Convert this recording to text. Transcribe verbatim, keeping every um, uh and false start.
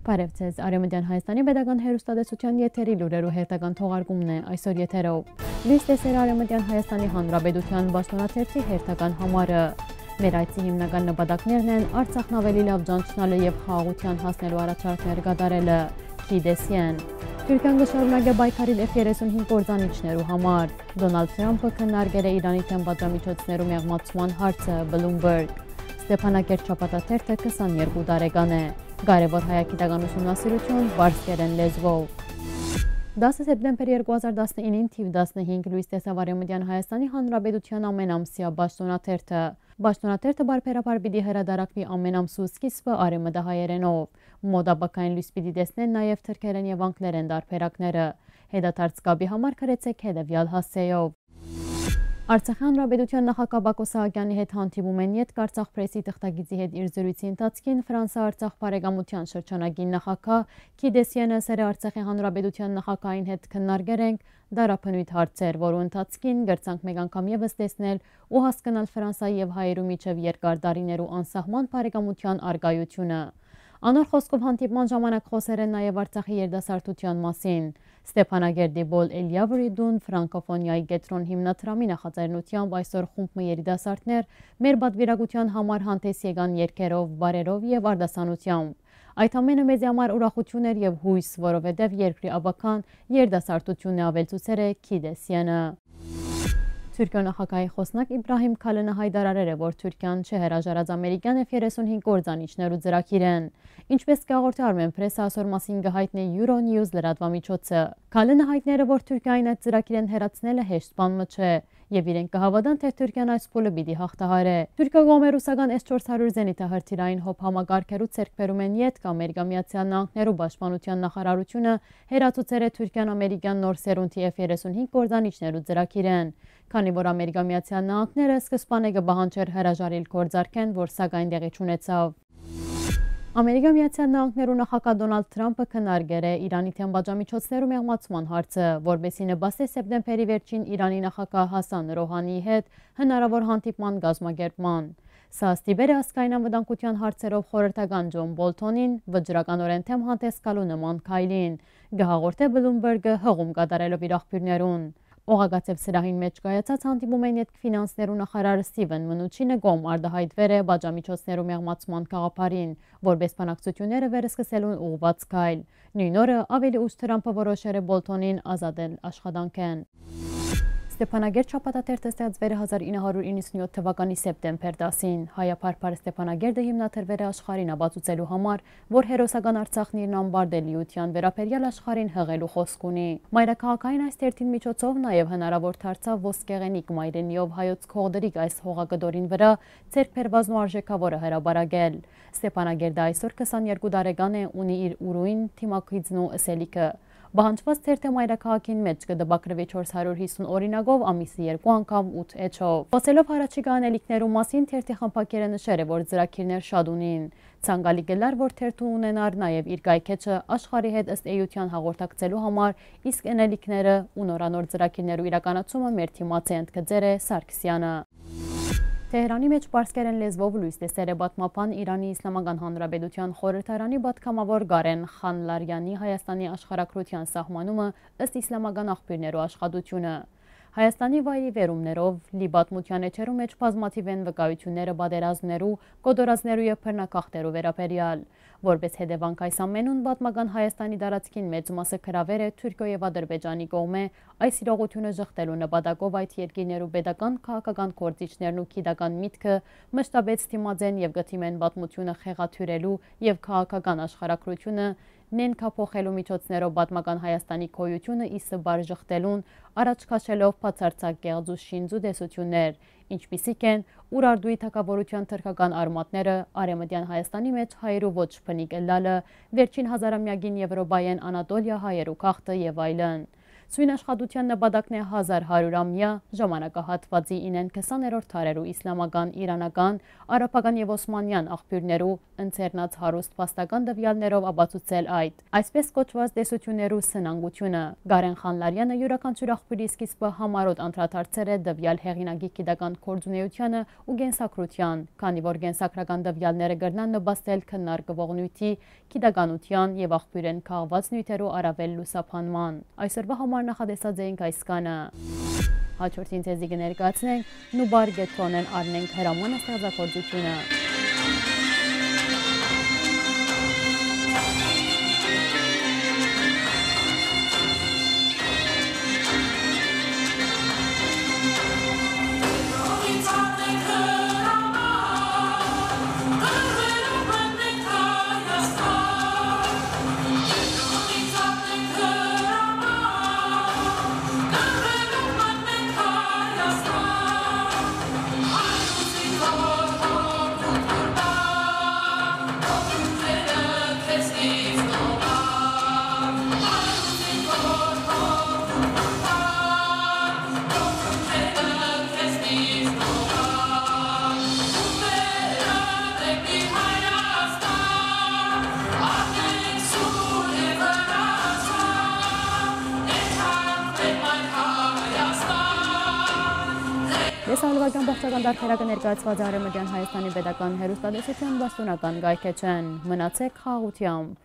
Բարեւ ձեզ, Արեւմտեան Հայաստանի Պետական Հեռուստատեսութեան եթերի լուրերու հերթական թողարկումն է այսօր եթերով։ Լոյս տեսեր Արեւմտեան Հայաստանի Հանրապետութեան պաշտօնաթերթի հերթական համարը։ Մեր այցի հիմնական նպատակներն են Արցախն ավելի լաւ ճանչնալը եւ խաղաղութեան հասնելու առաջարկներ կատարելը։ Քիդեսիեն։ Թուրքիան կը շարունակէ պայքարի F երեսունհինգ կործանիչներու համար։ Դոնալդ Թրամփը քննարկեր է Իրանի դէմ պատժամիջոցներու մեղմացման հարցը, Bloomberg։ Ստեփանակերտ շաբաթաթերթը քսաներկու տարեկան է։ Կարեւոր հայագիտական ուսումնասիրութիւն պարսկերէն լեզուով։ Դասը սեպտեմբեր երկու հազար տասնինին թիվ տասնհինգ լոյս տեսաւ Արեւմտեան Հայաստանի Հանրապետութեան ամենամսեայ պաշտօնաթերթը։ Պաշտօնաթերթը բարբերաբար պիտի հրատարակուի ամենամսու սկիզբը արեւմտահայերէնով։ Մոտ ապագային լոյս պիտի տեսնեն նաեւ թրքերէն եւ անգլերէն տարբերակները։ Հետադարձ կապի համար գրեցէք հետեւեալ հասցէով։ Արցախի Հանրապետութեան նախագահ Բակո Սահակեանի հետ հանդիպումէն ետք Արցախ Պրեսի թղթակիցի հետ իր զրոյցի ընթացքին Ֆրանսա-Արցախ բարեկամութեան շրջանագին նախագահ Քիդեսիենը ըսեր է Արցախի Հանրապետութեան նախագահին հետ քննարկեր ենք դարաբնոյթ հարցեր, որու ընթացքին կրցանք մեկ անգամ եւս տեսնել ու հասկնալ Ֆրանսայի եւ հայերու միջեւ երկար տարիներու անսահման բարեկամութեան առկայությունը։ Անոր խօսքով հանդիպման ժամանակ խօսեր են նաեւ Արցախի երիտասարդութեան մասին։ Ստեփանակերտի Պոլ Էլիավրի տուն ֆրանկոֆոնիայի կեդրոն հիմնադրամի նախաձեռնութեամբ այսօր խումբ մը երիտասարդներ մեր պատվիրակութեան համար հանդէս եկան երգերով, պարերով եւ արտասանութեամբ։ Այդ ամէնը մեզի համար ուրախութիւն էր եւ յոյս, որովհետեւ երկրի ապագան երիտասարդութիւնն է, աւելցուցեր է Քիդեսյանը։ Թուրքիոյ նախագահի խօսնակ Իբրահիմ Քալինը յայտարարեր է, որ Թուրքիան չի հրաժարած ամերիկեան F երեսունհինգ կործանիչներու ծրագիրէն։ Ինչպէս կը հաղորդէ Armenpress, այսօր մասին կը յայտնէ Euronews լրատուամիջոցը։ Քալինը յայտներ է, որ Թուրքիային այդ ծրագիրէն հեռացնելը հեշտ բան մը չէ, եւ իրենք կը հաւատան, թէ Թուրքիան այս փուլը պիտի յաղթահարէ։ Թուրքիոյ կողմէ ռուսական S չորս հարիւր զենիթահրթիռային հոբ համակարգերու ձեռքբերումէն ետք Ամերիկա Միացյալ Նահանգներու պաշտպանութեան նախարարութիւնը հեռացուցեր է Թուրքիան ամերիկեան նոր սերունդի F երեսունհինգ կործանիչներու ծրագիրէն, քանի որ Ամերիկա Միացյալ Նահանգները սկզբանէ կը պահանջէր հրաժարիլ գործարքէն, որ սակայն տեղի չունեցաւ։ Ամերիկա Միացյալ Նահանգներու նախագահ Դոնալդ Թրամփը քննարկեր է Իրանի դէմ պատժամիջոցներու մեղմացման հարցը, որպէս զի նպաստէ սեպտեմբերի վերջին Իրանի նախագահ Հասան Ռոհանիի հետ հնարաւոր հանդիպման կազմակերպման։ Սա ստիպեր է ազգային անվտանգութեան հարցերով խորհրդական Ջոն Բոլթոնին վճռականօրէն դէմ հանդէս գալու նման քայլին, կը հաղորդէ Bloomberg-ը, հղում կատարելով իր աղբիւրներուն։ Օղակաձեւ սրահին մէջ կայացած հանդիպումէն ետք ֆինանսներու նախարար Սթիվեն Մնուչինը կողմ արտահայտուեր է պատժամիջոցներու մեղմացման գաղափարին, որպէս բանակցութիւնները վերսկսելուն ուղղուած քայլ։ Նոյն օրը աւելի ուշ Թրամփը որոշեր է Բոլթոնին ազատել աշխատանքէն։ Ստեփանակերտ շաբաթաթերթը ստեղծուեր է հազար ինը հարիւր իննսունյոթ թուականի սեպտեմբեր տասին։ Հայաբարբար Ստեփանակերտը հիմնադրուեր է աշխարհին ապացուցելու համար, որ հերոսական Արցախն իր նամբարդելիութեան վերաբերեալ աշխարհին յղելու խօսք ունի։ Մայրաքաղաքային այս թերթին միջոցով նաեւ հնարաւոր դարձաւ ոսկեղենիկ մայրենիով հայոց կողտրիկ այս հողակտորին վրայ ձեռք բերուածն ու արժէքաւորը հրապարակել։ Ստեփանակերտը այսօր քսաներկու տարեկան է, ունի իր ուրոյն, դիմագիծն ու ըսելիքը։ Պահանջուած թերթը մայրաքաղաքին մէջ կը տպագրուի չորս հարիւր յիսուն օրինակով, ամիսը երկու անգամ, ութ էջով։ Խօսելով յառաջիկայ անելիքներու մասին, թերթի խմբագիրը նշեր է, որ ծրագիրներ շատ ունին։ Ցանկալի կ'ըլլար, որ թերթը ունենար նաեւ իր կայքէջը աշխարհի հետ ըստ էութեան հաղորդակցելու համար, իսկ անելիքները ու նորանոր ծրագիրներու իրականացումը մեր դիմաց է, ընդգծեր է Սարգսեանը։ Թեհրանի մէջ պարսկերէն լեզուով լոյս տեսեր է պատմաբան, Իրանի Իսլամական Հանրապետութեան խորհրդարանի պատգամաւոր Կարեն Խանլարյանի Հայաստանի աշխարհագրութեան սահմանումը ըստ իսլամական աղբիւրներու աշխատութիւնը։ Հայաստանի վայրի վերումներով լի պատմութեան էջերու մէջ բազմաթիւ են վկայութիւնները պատերազմներու, կոտորածներու եւ բռնակախներու վերաբերեալ։ Որպէս հետեւանք այս ամենուն, պատմական Հայաստանի տարածքին մեծ մասը գրաւեր է Թուրքիոյ եւ Ադրբեջանի կողմէ, այս իրողութիւնը ժխտելու նպատակով այդ երկիրներու պետական, քաղաքական գործիչներն ու գիտական միտքը մշտապէս դիմած են եւ կը դիմեն պատմութիւնը խեղաթիւրելու եւ քաղաքական աշխարհագրութիւնը նենգափոխելու միջոցներով պատմական Հայաստանի գոյութիւնը ի սպառ ժխտելուն առաջ քաշելով բացարձակ կեղծ ու շինծու տեսութիւններ, ինչպիսիք են Ուրարտուի թագաւորութեան թրքական արմատները, Արեւմտեան Հայաստանի մէջ հայերու ոչ բնիկ ըլլալը, վերջին հազարամեակին Եւրոպայէն Անատոլիա հայերու գաղթը եւ այլն։ Սոյն աշխատութեան նպատակն է հազար հարիւր ամեայ ժամանակահատուածի ինեն քսաներորդ դարերու իսլամական, իրանական, արաբական եւ օսմանեան աղբիւրներու ընձեռնած հարուստ փաստական տուեալներով ապացուցել այդ, այսպէս կոչուած տեսութիւններու սնանկութիւնը։ Կարեն Խանլարեանը իւրաքանչիւր աղբիւրի սկիզբը համառօտ անդրադարձեր է տուեալ հեղինակի գիտական գործունէութեանը ու կենսագրութեան, քանի որ կենսագրական տուեալները կրնան նպաստել քննարկուող նիւթի գիտականութեան եւ աղբիւրէն քաղուած նիւթերու առաւել լուսաբանման։ Այսօրուայ համար նախատեսած էինք այսքանը։ Հաջորդին ձեզի կը ներկայացնենք Նուբար Կեդրոնէն առնենք հրաման ստեղծագործութիւնը։ Լեսահոլովակեան բաղձական տարբերակը ներկայացուած է Արեւմտեան Հայաստանի պետական հեռուստատեսութեան պաշտօնական կայքէջէն։ Մնացէք խաղաղութեամբ։